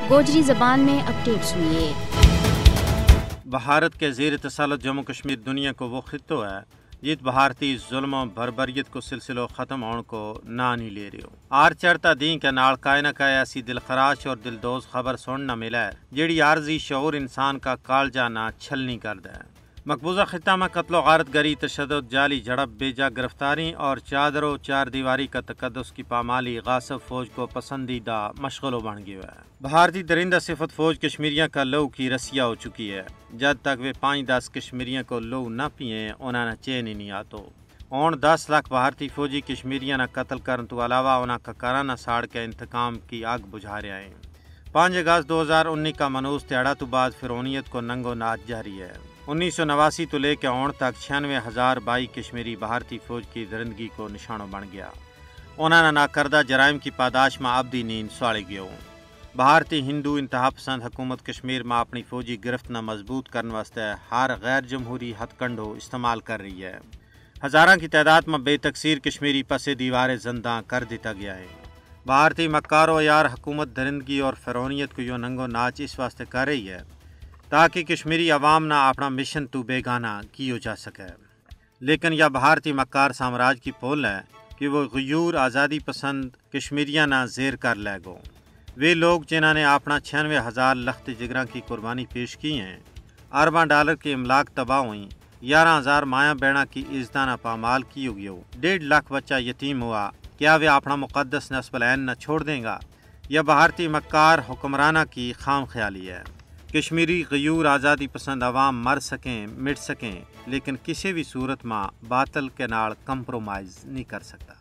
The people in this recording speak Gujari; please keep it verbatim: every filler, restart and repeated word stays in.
گوجری زبان میں اپڈیٹ سنیے۔ بھارت کے زیر تسلط جموں کشمیر دنیا کو وہ خطو ہے جت بھارتی ظلم و بربریت کو سلسلو ختم ہون کو ناں نہیں لے رہیو۔ آر چڑھتا دین کے نال کائے نہ کائے ایسی دلخراش اور دلدوز خبر سننا ملا ہے جیڑی عارضی شعور انسان کا کالجا نہ چھلنی کر دے۔ مقبوضہ خطہ میں قتل و غارت گری، تشدد، جعلی جھڑپ، بے جا گرفتاری اور چادر و چار دیواری کا تقدس کی پامالی غاصب فوج کو پسندیدہ مشغلو بن گیو ہے۔ بھارتی درندہ صفت فوج کشمیریاں کا لو کی رسیا ہو چکی ہے۔ جد تک ویہ پانچ دس کشمیریاں کو لو نہ پیئیں انہاں نا چین ہی نہیں آتو۔ ہون دس لکھ بھارتی فوجی کشمیریاں نا قتل کرن تو علاوہ انہاں کا کراں نا ساڑ کے انتقام کی آگ بجھا رہیا ہیں۔ پانچ اگست دو ہزار انی کا منوس تیاڑا تو بعد فرعونیت کو ننگو ناچ جاری ہے۔ انیس سو نواسی تو لے کے ہون تک چھیانوے ہزار بائی کشمیری بھارتی فوج کی درندگی کو نشانو بن گیا۔ انہاں نا ناکردہ جرائم کی پاداش ما ابدی نیند سواڑی گیو۔ بھارتی ہندو انتہا پسند حکومت کشمیر ما اپنی فوجی گرفت نا مضبوط کرن واسطے ہر غیر جمہوری ہتھ کنڈو استعمال کر رہی ہے۔ ہزاراں کی تعداد ما بے تقصیر کشمیری پسے دیوارے زنداں کر دیتا گیا ہے۔ بھارتی مکار و یار حکومت درندگی اور فرعونیت کو یوہ ننگو ناچ اس واسطے کر رہی ہے تاکہ کشمیری عوام نا اپنا مشن تو بیگانہ کیو جا سکے۔ لیکن یا بھارتی مکار سامراج کی پول ہے کہ وہ غیور آزادی پسند کشمیریاں نا زیر کر لے گو۔ ویہ لوگ جنہاں نے اپنا چھیانوے ہزار لخت جگراں کی قربانی پیش کی ہیں، ارباں ڈالر کی املاک تباہ ہوئیں، یاراں ہزار مایاں بہناں کی عزتاں نا پامال کیو گیو، ڈیڑھ لکھ بچہ یتیم ہوا، کیا ویہ اپنا مقدس نصب العین نا چھوڑ دیں گا؟ یا بھارتی مکار حکمراناں کی خام خیالی ہے؟ کشمیری غیور آزادی پسند عوام مر سکیں مٹ سکیں، لیکن کسے وی صورت ما باطل کے نال کمپرومائز نہیں کر سکتا۔